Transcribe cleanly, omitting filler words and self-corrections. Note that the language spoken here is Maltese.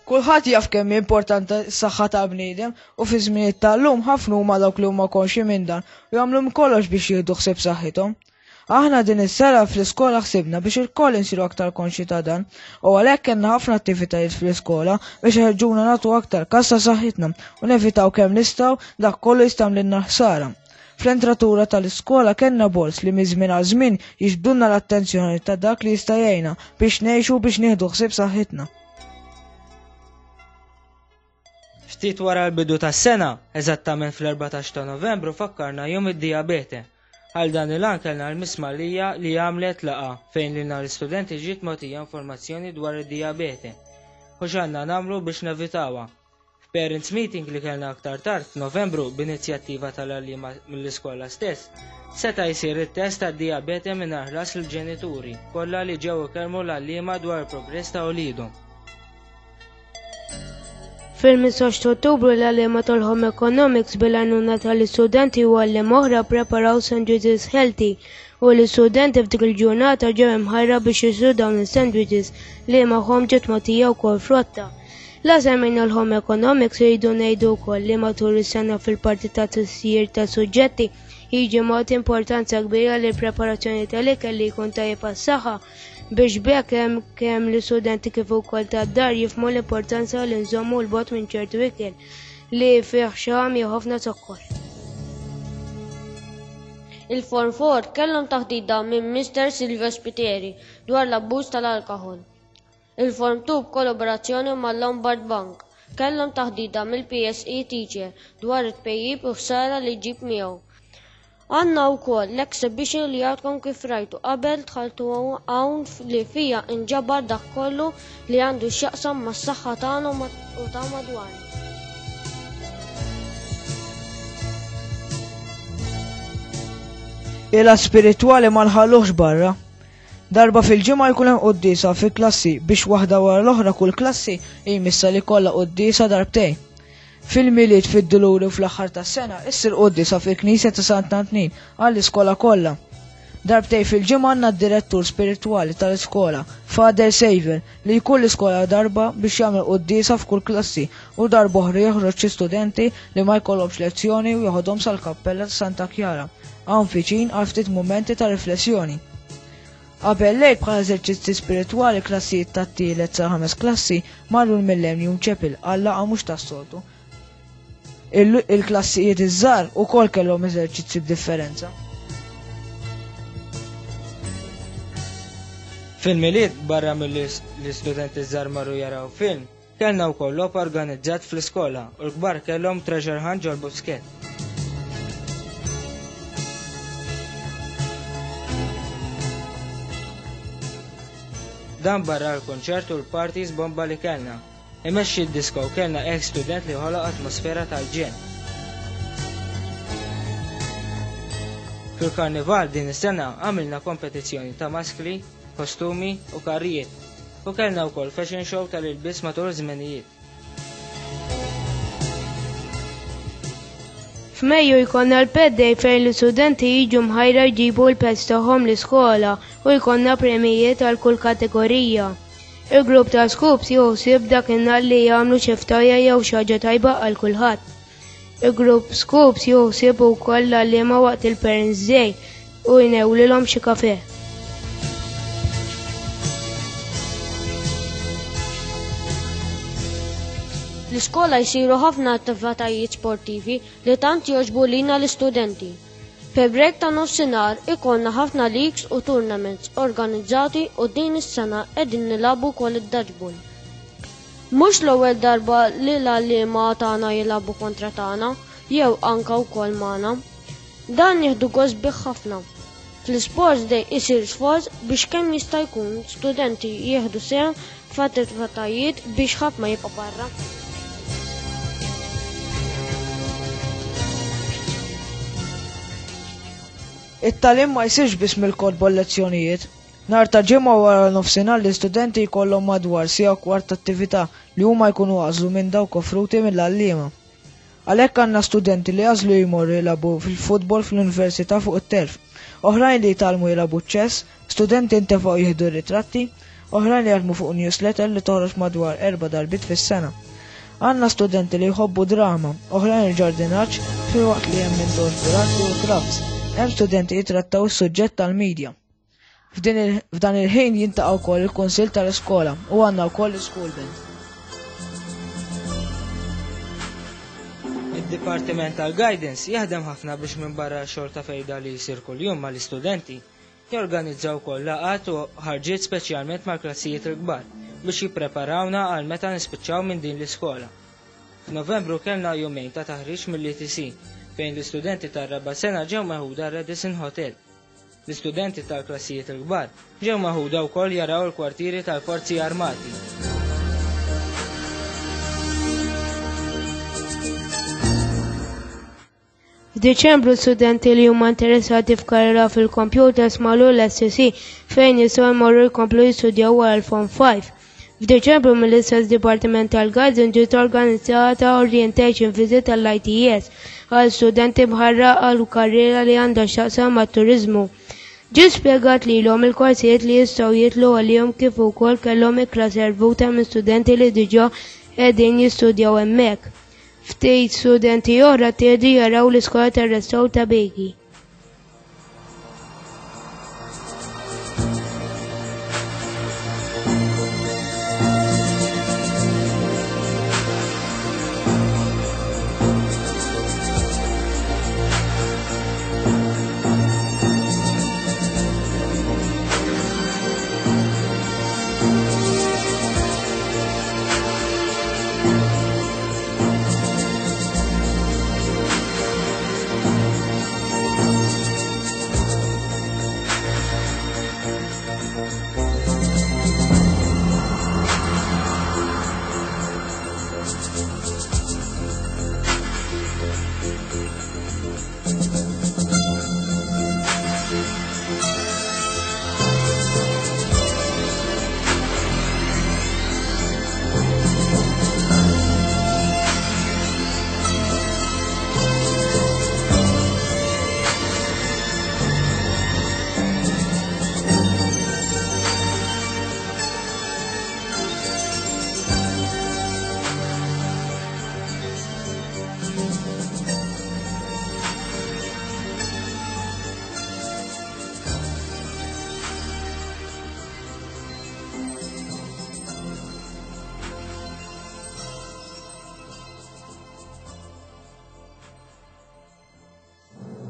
Kulħadd jaf kemm hi importanti s-saħħa tal-bniedem u fi żminijiet tal-lum ħafna huma dawk li huma konxji minn dan u jagħmlu minn kollox biex jieħdu ħsieb saħħithom. Aħna din is-sena fl-iskola ħsibna biex ilkoll insiru aktar konxji ta' dan u għalhekk kellna ħafna attivitajiet fl-iskola biex iħeġġuna nagħtu aktar kas ta' saħħitna u nevitaw kemm nistgħu dak kollu jista' jagħmlilna ħsara. Fl-entratura tal-iskola kellna boards li minn żmien għal żmien jiġbdulna l-attenzjoni ta' dak li jista' jgħinna biex ngħixu u biex nieħdu ħsieb saħħitna. Ftit wara l-bidu tas-sena, eżattament fl-14 ta' Novembru fakkarna Jum id-Dijabete. Għal dan il-għan kellna l-Miss Mallia li għamlet laqgħa fejn lilna l-istudenti ġiet mogħtija informazzjoni dwar id-dijabete u x'għandna nagħmlu biex nevitawha. F'parents meeting li kellna aktar tard f'Novembru b'inizjattiva tal-għalliema mill-iskola stess, seta' jsir it-test tad-dijabete mingħajr ħlas lill-ġenituri kollha li ġew ikellmu l-għalliema dwar il-progress ta' uliedhom. Fil-15 ta' Ottubru l-għalliema tal-Home Economics bil-għajnuna tal-istudenti u għalliema oħra ppreparaw sandwiches healthy u l-istudenti f'dik il-ġurnata ġew imħajra biex jixtru dawn is-sandwiches li magħhom ġiet mogħtija wkoll frotta. La semmejna l-Home Economics irridu ngħidu wkoll li matul is-sena fil-parti ta' tisjir ta' suġġetti jiġi mogħti importanza kbira lill-preparazzjoni tal-ikel li jkun tajjeb għas-saħħa biex b'hekk hemm kemm l-istudenti kif ukoll tad-dar jifhmu l-importanza li nżommu 'l bogħod minn ċertu ikel li fih xaħam jew ħafna zokkor. Il-Form 4 kellhom taħdita minn Mister Silvio Spiteri dwar l-abbuż tal-alkoħol. Il-Form 2 b'kollaborazzjoni mal-Lombard Bank kellhom taħdita mill-PSE teacher dwar it-tpejjip u ħsara li jġib miegħu. Għandna wkoll l-exhibition li għadkom kif rajtu qabel dħaltu hawn li fiha inġabar dak kollu li għandu x'jaqsam mas-saħħa tagħna u ta' madwarna. Il-att spiritwali ma nħalluhx barra. Darba fil-ġimgħa jkun hemm quddiesa fi klassi biex waħda wara l-oħra kull klassi jmissha li jkollha quddiesa darbtejn. Fil-Milied, fid-Duluri u fl-aħħar tas-sena issir quddiesa fil-Knisja ta' Sant'Antnin għall-iskola kollha. Darbtejn fil-ġimgħa għandna d-direttur spiritwali tal-iskola, Father Xavier, li jkun l-iskola darba biex jagħmel quddiesa f'kull klassi u darba oħra joħroġ xi studenti li ma jkollhomx lezzjoni u joħodhom sal-kappella ta' Santa Kjara, hawn viċin għal ftit mumenti ta' riflessjoni. Qabel l-Għid bħala eżerċizzi spiritwali klassijiet tat-tielet sa ħames klassi marru l-Millennium Chapel għal laqgħa mhux tas-soltu. Il-klassijiet iż-żgħar ukoll kellhom eżerċizzi b'differenza. Fil-Milied barra milli l-istudenti ż-żgħar marru jaraw film, Kellna wkoll logħob organizzat fl-iskola u l-kbar kellhom treasure hunt ġol-Buskett. Dan barra l-kunċert u l-parties bomba li kellna. Imexxi d-disco kellna ex student li ħoloq atmosfera tal-ġenn. Fil-karnival din is-sena għamilna kompetizzjoni ta' maskli, kostumi u karrijiet u kellna wkoll fashion show tal-ilbies matul iż-żmenijiet. F'Mejju jkollna l-Pet Day fejn l-istudenti jiġu mħajra jġibu l-pets tagħhom l-iskola u jkollna premjijiet għal kull kategorija. Il-grupp ta' Scoops jieħu ħsieb dakinhar li jagħmlu xi ftajjar jew xi ħaġa tajba għal kulħadd. Il-grupp Scoops jieħu ħsieb ukoll l-għalliema waqt il-Parents Day u jnewlilhom xi kafè. L-iskola jsiru ħafna attivitajiet sportivi li tant jogħġbu lilna l-istudenti. Fi break ta' nofsinhar ikollna ħafna leagues u tournaments organizzati u din is-sena qegħdin nilagħbu wkoll id-dodgeball. Mhux l-ewwel darba li l-għalliema tagħna jilagħbu kontra tagħna jew anke wkoll magħna. Dan nieħdu gost bih ħafna. Fl-Isports Day isir sforz biex kemm jista' jkun studenti jieħdu sehem f'attivitajiet biex ħadd ma jibqa' barra. It-tagħlim ma jsirx biss mill-kotba u l-lezzjonijiet. Nhar ta' Ġimgħa wara nofsinhar l-istudenti jkollhom madwar siegħa u kwart attività li huma jkunu għażlu minn dawk offruti mill-għalliema. Għalhekk għandna studenti li għażlu jmorru jilagħbu fil-futbol fl-università fuq it-telf, oħrajn li jitgħallmu jilagħbu ċ-ċess, studenti ntefgħu jieħdu r-ritratti, Oħrajn jaħdmu fuq newsletter li toħroġ madwar erba' darbiet fis-sena. Għandna studenti li jħobbu drama, oħrajn il-ġardinaġġ filwaqt li hemm min togħġbu l-arti u l-crafts. Hemm studenti jitrattaw is-suġġett tal-media. F'dan il-ħin jintaqa' wkoll il-Kunsill tal-Iskola u għandna wkoll l-School Band. Id-Dipartiment tal-Guidance jaħdem ħafna biex minbarra x-xogħol ta' fejda li jsir kuljum mal-istudenti, jorganizza wkoll laqgħat u ħarġiet speċjalment mal-klassijiet il-kbar biex jippreparawna għal meta nispiċċaw minn din l-iskola. F'Novembru kellna jumejn ta' taħriġ mill-ETC fejn l-istudenti tar-raba' sena ġew meħuda Radisson Hotel. L-istudenti tal-klassijiet il-kbar ġew meħuda wkoll jaraw il-kwartieri tal-Forzi Armati. F'Diċembru studenti li huma interessati f'karriera fil-computers marru l-SCC fejn jistgħu jmorru jkomplu jistudjaw wara l-Form 5. F'Diċembru mill-istess Dipartiment tal-Guidance ġiet organizzata orientation visit tal-ITS għal studenti mħarra għal karriera li għandha x'taqsam mat-turiżmu. Ġie spjegat lilhom il-korsijiet li jistgħu jidħlu għalihom kif ukoll kellhom ikla servuta minn studenti li diġà qegħdin jistudjaw hemmhekk. Ftit studenti oħra ttieħdu jaraw l-iskola tar-restawr ta' Begi.